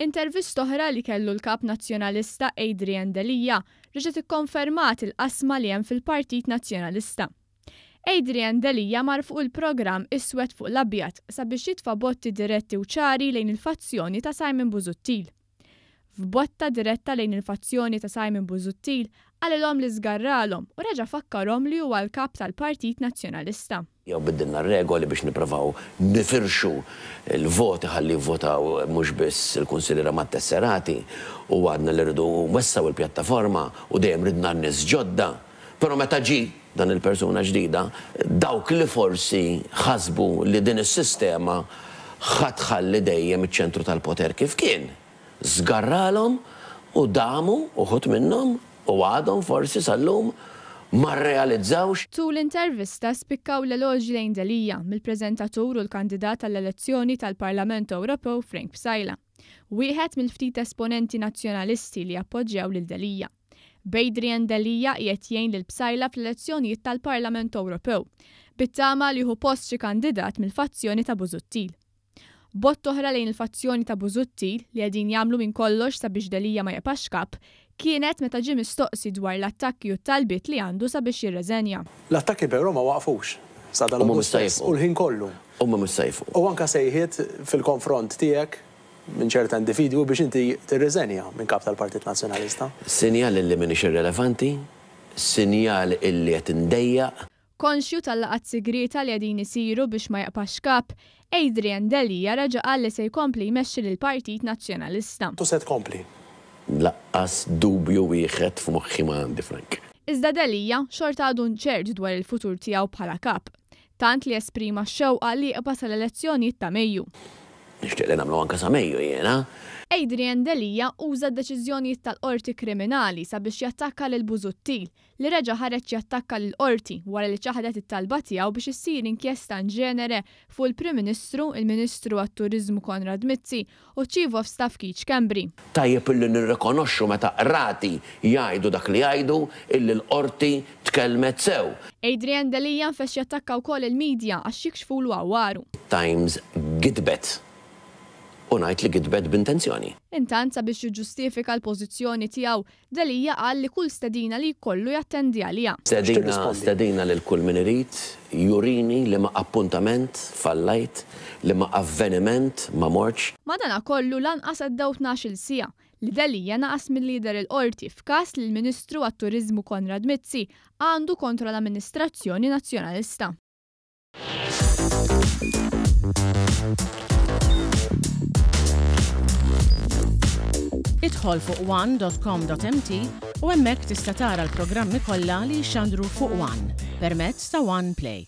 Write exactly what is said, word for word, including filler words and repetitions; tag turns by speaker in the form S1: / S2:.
S1: Intervista oħra li kellu l-kap nazzjonalista Adrian Delia reġgħet ikkonfermat il-qasma li hemm fil-Partit Nazzjonalista. Adrian Delia mar fuq il-programm Iswed fuq l-Abjad sabiex jitfa' botti diretti u ċari lejn il-fazzjoni ta' Simon Busuttil. F'botta diretta lejn il-fazzjoni ta' Simon Busuttil qalilhom li żgarralhom u reġa' fakkarhom li huwa l-kap tal-Partit Nazzjonalista.
S2: Jew biddilna regoli biex nipprovaw nifirxu l-voti ħalli jivvotaw mhux biss il-kunsilliera mat-tesserati u għadna li rridu nwessgħu il-pjattaforma u dejjem ridna n-nies ġodda. Però meta ġie dan il-persuna ġdida, dawk li forsi ħasbu li din is-sistema ħa tħalli dejjem iċ-ċentru tal-poter kif kien, żgarralhom u damu uħud minnhom u għadhom forsi sal-lum ma rrealizzawx.
S1: Tul l-intervista spikkaw l-eloġi lejn Delia mill-preżentatur u l-kandidat għall-elezzjoni tal-Parlament Ewropew Frank Psaila, wieħed mill-ftit esponenti nazzjonalisti li appoġġjaw lil Delia. B'Adrian Delia qiegħed jgħin lil Psaila fl-elezzjonijiet tal-Parlament Ewropew, bit-tama li jieħu post xi kandidat mill-fazzjoni ta' Busuttil. Botta oħra lejn il-fazzjoni ta' Busuttil li qegħdin jagħmlu minn kollox sabiex Delia ma jibqax kap kienet meta ġie mistoqsi dwar l-attakki u t-talbiet li għandu sabiex jirreżenja.
S3: L-attakki però ma waqfux. Sa dan
S2: U mhux
S3: stess
S2: se jieqfu.
S3: u l-ħin kollu.
S2: U mhux se jieqfu.
S3: U anka sejħiet fil-konfront tiegħek minn ċerta individwu biex inti tirriżenja minn kap tal-Partit Nazzjonalista.
S2: Sinjal illi m'iniex irrelevanti, sinjal illi qed indejjaq.
S1: Konxju tal-laqgħat segreta li qegħdin isiru biex ma jibqax kap, Adrian Delia reġa' qal li se jkompli jmexxi lill-Partit Nazzjonalista.
S3: Tu se tkompli.
S2: Lanqas dubju wieħed f'moħħi ma għandi, Frank.
S1: Iżda Delia xorta għadu nċert dwar il-futur tiegħu bħala kap, tant li esprima x-xewqa li jibqa' sal-elezzjonijiet ta' Mejju.
S2: Nixtieq li nagħmlu anke sa Mejju jiena.
S1: Adrian Delia uża d-deċiżjonijiet tal-qorti kriminali sabiex jattakka lil Busuttil li reġa' ħareġ jattakka lil qorti wara li ċaħdet it-talba tiegħu biex issir inkjesta in ġenere fuq il-Prim Ministru, il-Ministru għat-Turiżmu Konrad Mizzi u Chief of Staff Keith Schembri.
S2: Tajjeb illi nirrikonoxxu meta qrati jgħidu dak li jgħidu illi l-qorti tkellmet sew.
S1: Adrian Delia nfex jattakka wkoll il-medja għax jikxfulu għawaru.
S2: Times gidbet. U ngħid li gidbet b'intenzjoni.
S1: Intant sabiex jiġġustifika l-pożizzjoni tiegħu, Delia qal li kull stedina li jkollu jattendi għaliha.
S2: Stedina,
S3: X'tirrispondi?
S2: stedina lil kull min irid, jurini li ma appuntament fallajt, li ma avveniment ma mortx.
S1: Madanakollu lanqas għaddew tnax-il siegħa li Delia naqas milli jidher il-qorti f'każ li l-Ministru għat-Turiżmu Konrad Mizzi għandu kontra l-Amministrazzjoni Nazzjonalista.
S4: Idħol fuq one dot com dot m t u hemmhekk tista' tara l-programmi kollha li jxandru fuq One permezz ta' One Play.